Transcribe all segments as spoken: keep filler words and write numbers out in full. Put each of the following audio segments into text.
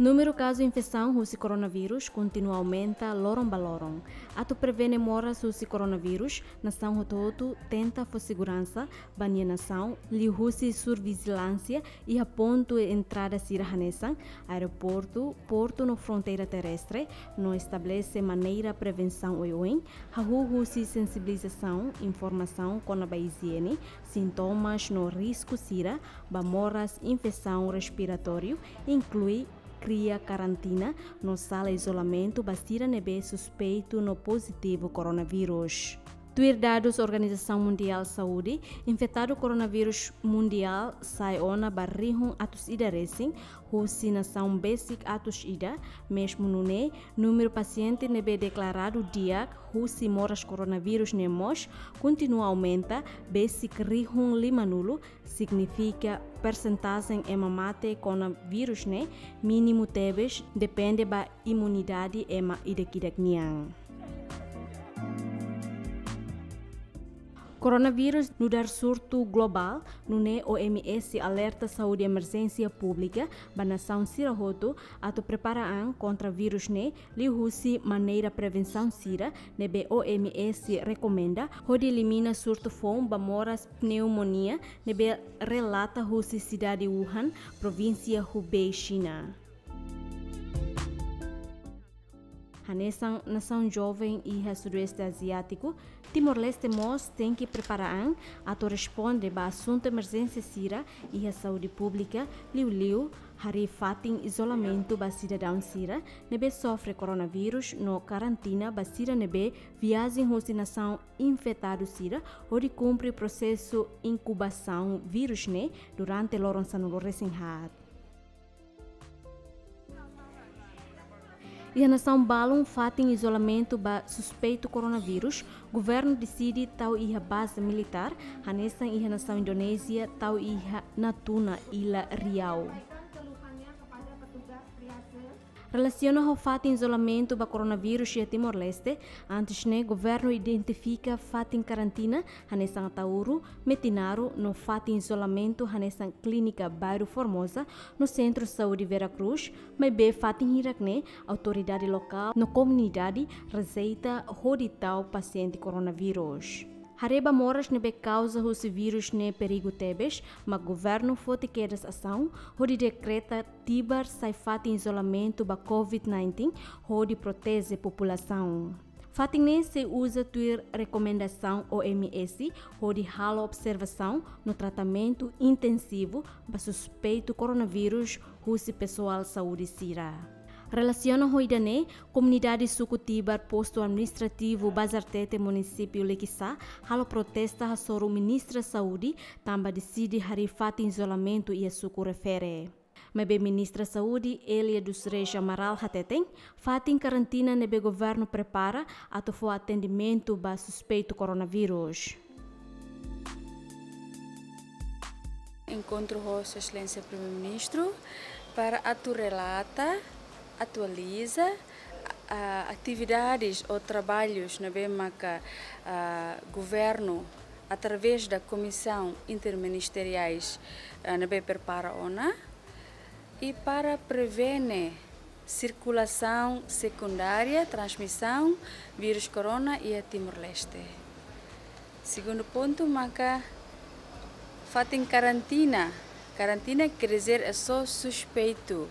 Númeru kazu infesaun husi koronavírus kontinua aumenta loron ba loron. Atu prevene moras husi koronavírus, nasaun hotu-hotu tenta fó seguransa ba nia nasaun liuhusi survejilánsia iha pontu entrada sira hanesan aeroportu, portu no fronteira terrestre, no estabelese maneira prevensaun oioin, hahú husi sensibilizasaun, informasaun kona-ba ijiene, sintomas no risku sira ba moras infesaun respiratóriu, inklui kria karantina no sala izolamentu ba sira ne'ebé suspeitu no pozitivu koronavírus. Tuir dadus Organizasaun Mundiál Saúde, infetadu koronavírus mundiál sa'e ona ba rihun atus ida resin, husi nasaun besik atus ida, mezmu nune'e númeru pasiente ne'ebé deklaradu di'ak husi moras koronavírus ne'e mós kontinua aumenta, besik rihun limanulu, signifika persentajen ema mate kona vírus ne'e mínimu tebes, depende ba imunidade ema ida-idak nian. Koronavírus nu'udar surtu globál, nune'e O M S alerta saúde emerjénsia públika ba nasaun sira hotu atu prepara an kontra vírus ne'e liuhusi maneira prevensaun sira ne'ebé O M S rekomenda, hodi elimina surtu foun ba moras pneumonia ne'ebé relata husi sidade Wuhan, provínsia Hubei, Xina. Hanesan nasaun joven iha Sudoeste Aziátiku, Timor-Leste mós tenke prepara an atu responde ba asuntu emerjénsia sira iha saúde públika, liuliu harii fatin izolamentu ba sidadaun sira ne'ebé sofre koronavírus no karantina ba sira ne'ebé viajen husi nasaun infetadu sira, hodi kumpre prosesu inkubasaun vírus ne'e durante loron sanulu resin haat. Iha nasaun balun, fatin izolamentu ba suspeitu koronavírus, governu deside tau iha baze militár, hanesan iha nasaun Indonézia tau iha Natuna, Ila Riau. Relasiona ho fatin izolamentu ba koronavírus iha Timor-Leste, antes ne'e governu identifika fatin karantina hanesan Ataúro, Metinaro, no fatin izolamentu hanesan Klínika Bairru Formosa no Sentru Saúde Vera Cruz, maibé fatin hirak ne'e autoridade lokál no komunidade rejeita hodi tau pasiente koronavírus. Haree ba moras ne'ebé kauza husi vírus ne'e perigu tebes, mak governu foti kedas asaun hodi dekreta Tibar sai fatin izolamentu ba covid nineteen hodi proteje populasaun. Fatin ne'e sei uza tuir rekomendasaun O M S hodi halo observasaun no tratamentu intensivu ba suspeitu koronavírus husi pesoál saúde sira. Relasiona ho ida-ne'e, komunidade suku Tibar, postu administrativu Bazartete, munisípiu Likisá, halo protesta hasoru Ministra Saúde, tanba deside harii fatin izolamentu iha suku refere. Maibé Ministra Saúde, Elia dos Reis Amaral, hateten, fatin karantina ne'ebé governu prepara atu fó atendimentu ba suspeitu koronavírus. Enkontru ho Sua Exelénsia Primeiru-Ministru para atu relata, atualiza, ah, atividades ou trabalhos ne'ebé maka, ah, governu, através da Comissão Interministeriais, ah, ne'ebé prepara ona, i para prevene sirkulasaun sekundária, transmisaun vírus corona iha Timor-Leste. Segundu pontu maka fatin karantina. Karantina quer dizer é só suspeitu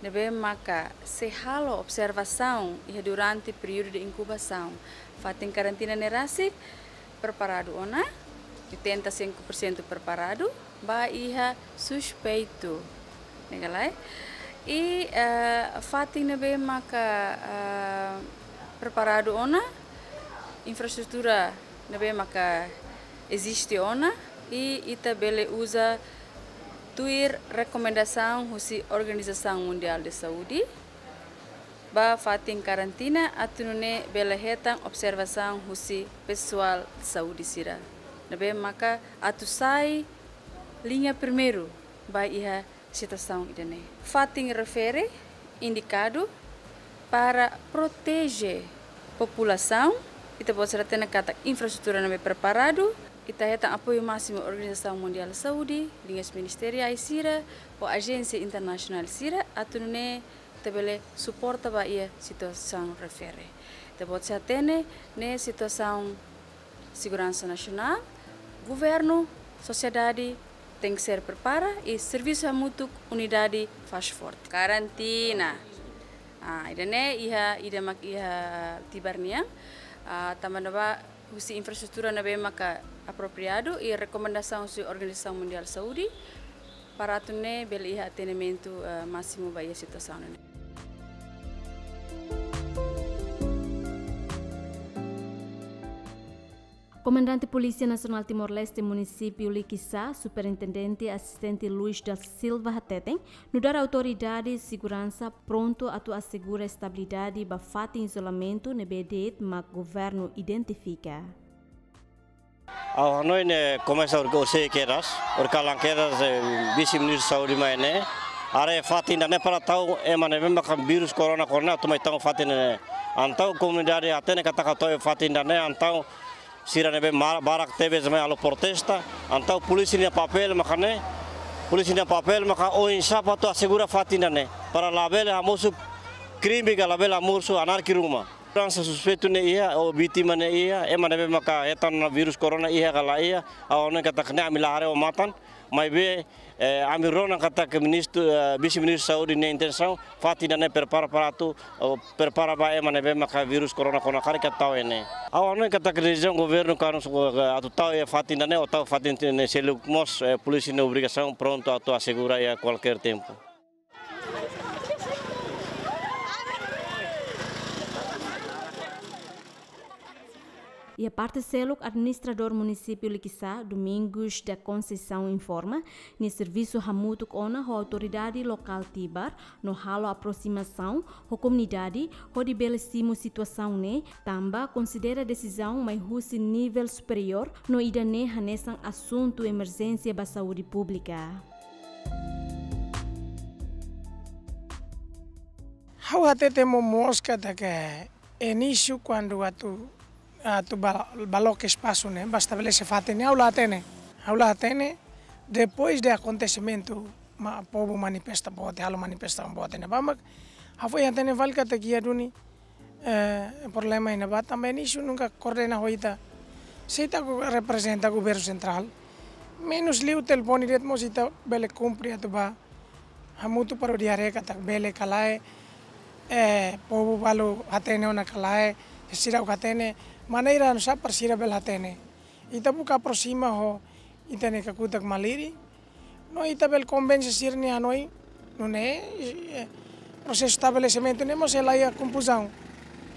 ne'ebé maka sei halo observasaun iha durante períodu de inkubasaun. Fatin karantina ne'e rasik preparadu ona, oitenta e cinco por cento preparadu, ba iha suspeitu. Ne'e ka lae? I, eh, fatin ne'ebé maka, eh, preparadu ona, infraestrutura ne'ebé maka eziste ona, i ita bele uza tuir rekomendasaun husi Organizasaun Mundiál de Saúde, ba fatin karantina atu nune'e bele hetan observasaun husi pesoál saúde sira. Ne'ebé maka atu sai liña primeiru ba iha situasaun ida-ne'e. Fatin refere indikadu para proteje Populasaun, ita-boot sira hatene katak infraestrutura ne'ebé preparadu, ita hetan apoiu másimu Organizasaun Mundiál Saúde, liñas ministeriais sira, ho ajénsia internasionál sira, atu nune'e ita bele suporta ba iha situasaun refere. Ita-boot sira hatene, ne'e situasaun seguransa nasionál, governu, sosiedade tenke ser prepara i servisu hamutuk unidade fase forte. Karantina. Ah, ida-ne'e iha, ida mak iha Tibar nian. Ah, tanba ne'ebá husi infraestrutura ne'ebé maka apropriadu i rekomendasaun husi Organizasaun Mundiál Saúde para atu nune'e bele iha atendimentu, eh, másimu ba iha situasaun ne'e. Komandante Polísia Nasionál Timor-Leste Munisípiu Likisá, Superintendente Asistente Luis da Silva hateten, nu'udar autoridade seguransa prontu atu asegura estabilidade ba fatin izolamentu ne'ebé de'it mak governu identifika. Ha'u hanoin ne'e komesa orsida kedas, orsida kalan kedas, eh, Vise-Ministru Saúde mai ne'e. Haree fatin ida-ne'e para tau ema ne'ebé maka vírus korona, korona atu mai tau fatin ne'e. Entaun komunidade hatene katak atu tau fatin ida-ne'e, entaun sira ne'ebé mar-, barak tebes mai halo protesta, entaun polísia nia papél maka ne'e, polísia nia papél maka oinsá atu asegura fatin ida-ne'e, para labele hamosu krime ka labele hamosu anarkia ruma. Seguransa suspeitu ne'e iha, ou vítima ne'e iha, ema ne'ebé maka hetan vírus korona iha ka la iha, ha'u hanoin katak ne'e ami la haree ho matan, maibé, eh, ami rona katak ministru, eh, Vise-Ministru Saúde nia intensaun, fatin ida-ne'e prepara para atu, ou prepara ba ema ne'ebé maka vírus korona kona karik atu tau iha ne'e. Ha'u hanoin katak desizaun governu kanu suku, eh, atu tau iha fatin ida-ne'e, ou tau fatin ne'e seluk mós, eh, polísia nia obrigasaun prontu atu asegura iha kualkér tempu. Iha parte seluk, Administradór Munisípiu Likisá, Domingos da Conceição informa, nia servisu hamutuk ona ho autoridade lokál Tibar, no halo aprosimasaun ho komunidade, hodi bele simu situasaun ne'e, tanba konsidera desizaun mai husi nivel superiór, no ida-ne'e hanesan asuntu emerjénsia ba saúde públika. Ha'u hatete momoos katak inísiu kuandu atu, atu ba-, ba loke espasu ne'e, ba estabelese fatin ne'e, ha'u la hatene. Ha'u la hatene, depois de akontesimentu, mak povu manifesta boot, halo manifestasaun boot ne'ebá mak ha'u foin hatene fali katak iha duni, eh, problema iha ne'ebá tanba inísiu nunka koordena ho ita. Se ita ku reprezenta governu sentrál, menus liu telefone de'it mós ita bele kumpre atu ba hamutuk para hodi haree katak bele ka lae, eh, povu balu hatene ona ka lae, sira ka hatene, maneira oinsá para sira bele hatene. Ita buka aprosima ho ita-nia kakutak Maliri, no ita bele konvense sira-nia hanoin, nune'e, eh, prosesu estabelesimentu ne'e mós sei la iha konfuzaun.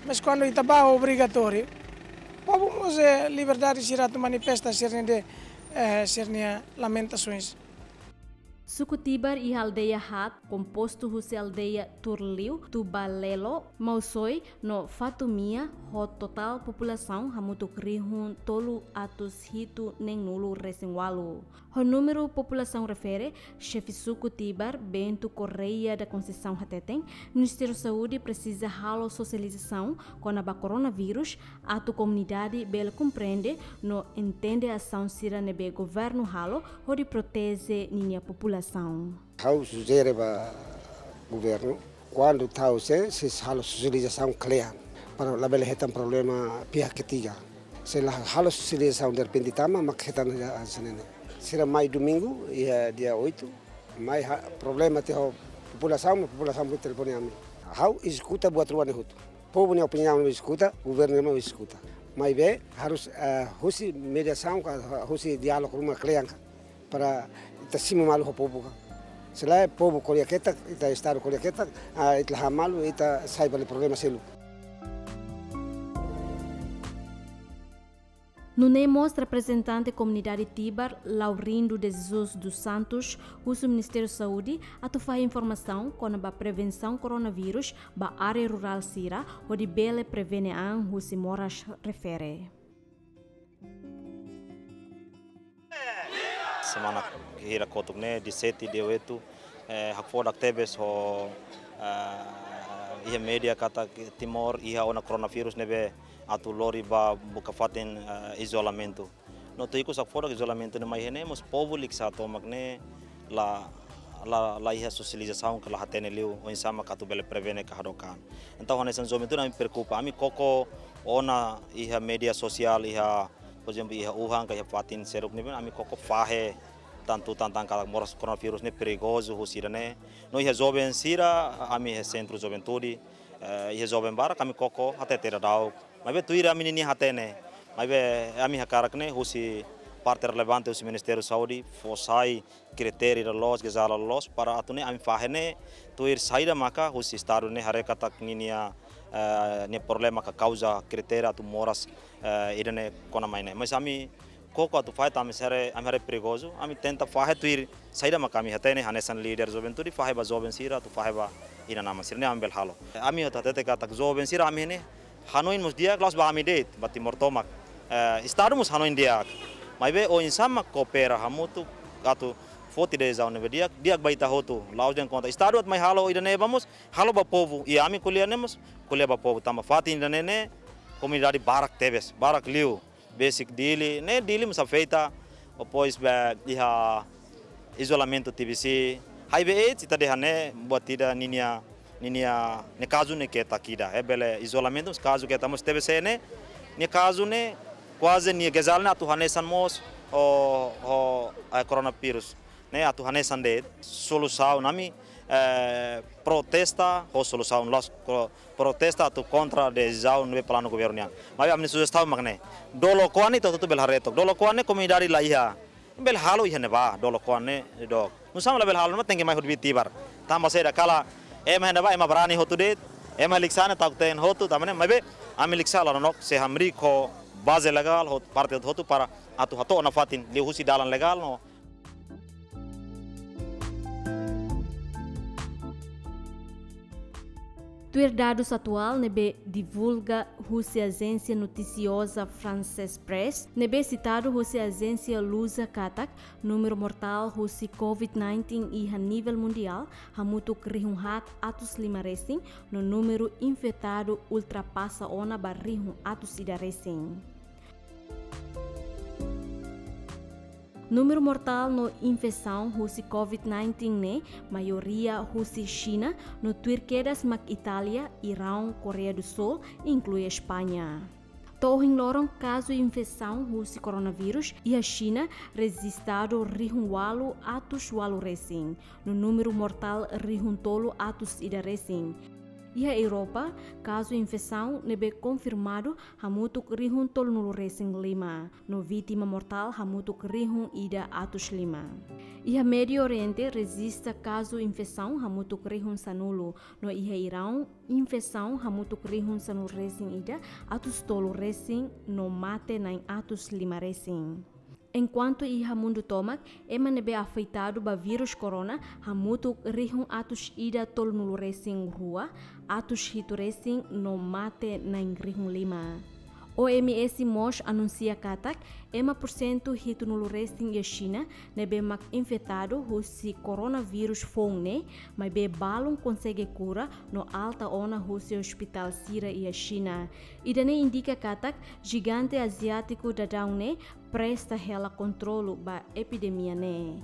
Mas kuandu ita ba obrigatóriu, povu mós, eh, liberdade sira atu manifesta sira-nia de, eh, sira-nia lamentasoens. Suku Tibar iha aldeia haat, kompostu husi aldeia Turliu, Tubalelo, Mausoi, no Fatumia, ho totál populasaun hamutuk rihun tolu atus hitu neen-nulu resin ualu. Ho númeru populasaun refere, xefe suku Tibar, Bento Correia da Conceição hateten, Ministériu Saúde presiza halo sosializasaun kona-ba koronavírus, atu komunidade bele komprende no entende asaun sira ne'ebé governu halo hodi proteje ninia populasaun. Ha'u sujere ba governu, kuandu tau sé, sei halo sosializasaun kle'an, para labele hetan problema pihak ketiga. Se la halo sosializasaun derrepente tama, mak hetan hanesan ne'e. Sira mai domingu, iha dia oito, mai ha-, problema tiha ho populasaun, populasaun bele telefone ami. Ha'u eskuta buat rua ne'e hotu. Povu nia opiniaun eskuta, governu nia eskuta. Maibé harus, eh, husi mediasaun ka husi diálogu ruma kle'an ka, para ita simu malu ho povu ka. Se lae povu ko'alia ketak, ita Estadu ko'alia ketak, ah, ita la halo malu, ita sai fali problema seluk. Nune'e mós reprezentante komunidade Tibar, Laurindo de Jesus dos Santos, husu Ministériu Saúde atu fahe informasaun kona-ba prevensaun koronavírus ba área rurál sira, hodi bele prevene an husi moras refere. Semana hira kotuk ne'e, dia sete, dia oito, eh, hakfodak tebes ho, eh, Iha média katak Timor iha ona koronavírus ne'ebé atu lori ba buka fatin, eh, izolamentu. No tuir ikus hakfodak izolamentu ne'e mai iha ne'e mós povu liksa tomak ne'e la, la, la iha sosializasaun ka la hatene liu oinsá mak atu bele prevene ka hadook an. Entaun hanesan juventude ami preokupa, ami koko ona iha média sosiál, iha, por ezemplu, iha Wuhan ka iha fatin seluk ne'ebé, ami koko fahe tan tutan tan katak moras koronavírus ne'e perigozu husi ida-ne'e. No iha joven sira, ami iha sentru juventude, eh, iha joven barak ami koko hatete dadauk. Maibé tuir ami ninia hatene. Maibé ami hakarak ne'e husi parte relevante husi Ministériu Saúde fó sai kritéria loloos, gejala loloos para atu nune'e ami fahe ne'e tuir saida maka husi Estadu ne'e haree katak ninia, eh, nia problema ka kauza kritéria atu moras, eh, ida-ne'e kona mai ne'e. Mas ami koko atu fahe tanba ami haree, ami haree perigozu, ami tenta fahe tuir saida maka ami hatene hanesan líder juventude fahe ba joven sira atu fahe ba inan-aman sira-ne'e ami bele halo. Ami atu hatete katak joven sira ami ne'e hanoin mós di'ak la'ós ba ami de'it, ba Timor tomak. Eh, Estadu mós hanoin di'ak. Maibé oinsá mak koopera hamutuk atu foti desizaun ne'ebé di'ak, di'ak ba ita hotu, la'ós dehan kontra. Estadu atu mai halo ida-ne'e ba mós, halo ba povu. I ami ko'alia ne'e mós, ko'alia ba povu. Tanba fatin ida-ne'e ne'e, komunidade barak tebes, barak liu. Besik Dili, ne'e Dili mós afeta, depois be iha izolamentu T B C. H I V AIDS, ita dehan ne'e, buat ida ninia, ninia, nia kazu ne'e ketak ida. Eh, bele izolamentu, kazu ketak mós T B C ne'e, nia kazu ne'e, kuaze nia gejala ne'e atu hanesan mós, ho, ho, eh, koronavírus. Ne'e atu hanesan de'it, solusaun ami, eh, protesta ho solusaun la'ós ko-, protesta atu kontra desizaun ne'ebé planu governu nian. Maibé ami sujestaun mak ne'e. Dolok oan ne'e ita hotu bele haree took. Dolok oan ne'e komunidade la iha. Bele halo iha ne'ebá, dolok oan ne'e dook. Nusá mak labele halo, ema tenke mai hodi tibar. Tanba saida katak, ema iha ne'ebá, ema brani hotu de'it, ema liksa ne'e ta'uk teen hotu, tanba ne'e, maibé, ami liksa la nonook, sei hamriik ho baze legál, ho parte hotu para atu hato'o nafatin, liuhusi dalan legál no. Tuir dadus atuál ne'ebé divulga husi ajénsia notisioza France Presse, ne'ebé sitadu husi ajénsia Lusa katak, númeru mortál husi COVID nineteen iha nivel mundiál, hamutuk rihun haat atus lima resin, no númeru infetadu ultrapasa ona ba rihun atus ida resin. Númeru mortál no infesaun husi COVID nineteen ne'e maioria husi Xina, no tuir kedas mak Itália, Iraun, Koreia do Sul, inklui España. To'o ohin loron kazu infesaun husi koronavírus iha Xina rejistadu rihun ualu atus ualu resin, no númeru mortál rihun tolu atus ida resin. Iha Europa, kazu infesaun ne'ebé konfirmadu hamutuk rihun tolunulu resin lima, no vítima mortál hamutuk rihun ida atus lima. Iha Médiu Oriente rejista kazu infesaun hamutuk rihun sanulu, no iha Iraun infesaun hamutuk rihun sanulu resin ida atus tolu resin, no mate na'in atus lima resin. Enkuantu iha mundu tomak, ema ne'ebé afetadu ba vírus corona hamutuk rihun atus ida tolunulu resin rua, atus hitu resin no mate na'in rihun lima. O M S mós anunsia katak, ema porsentu hitunulu resin iha Xina ne'ebé mak infetadu husi koronavírus foun ne'e, maibé balun konsege kura no alta ona husi ospitál sira iha Xina. Ida-ne'e indika katak, jigante aziátiku daudaun ne'e presta hela kontrolu ba epidemia ne'e.